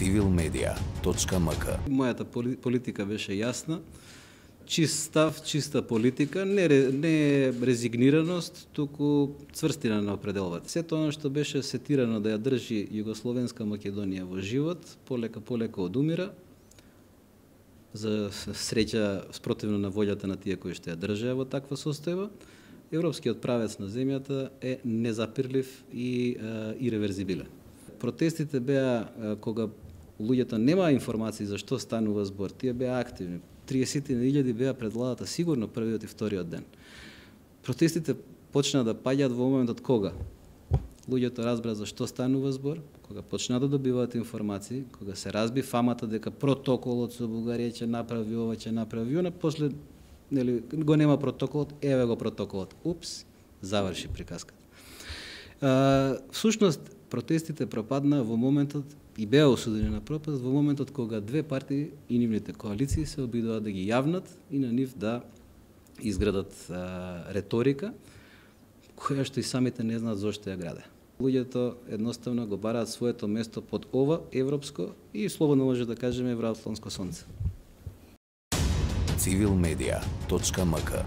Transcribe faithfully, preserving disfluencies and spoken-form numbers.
цивил медија точка ем ка. Мојата политика беше јасна. Чист став, чиста политика, не, не резигнираност, туку цврстина на определување. Сето оно што беше сетирано да ја држи Југословенска Македонија во живот, полека полека одумира. За среќа, спротивно на волјата на тие кои што ја држеа во таква состојба, европскиот правец на земјата е незапирлив и е, иреверзибилен. Протестите беа е, кога луѓето немаа информации за што станува збор, тие беа активни. триесет илјади беа пред владата сигурно првиот и вториот ден. Протестите почнаа да паѓаат во моментот кога луѓето разбраа за што станува збор, кога почнаа да добиваат информации, кога се разби фамата дека протоколот со Бугарија ќе направи ова, ќе направи она, после нели го нема протоколот, еве го протоколот. Упс, заврши приказката. А, всушност протестите пропаднаа во моментот и беа осудени на пропаст во моментот кога две партии и нивните коалиции се обидуваат да ги јавнат и на нив да изградат а, реторика која што и самите не знаат зошто ја граде. Луѓето едноставно го бараат своето место под ова европско и слободно може да кажеме евроатлантско сонце. цивил медија точка ем ка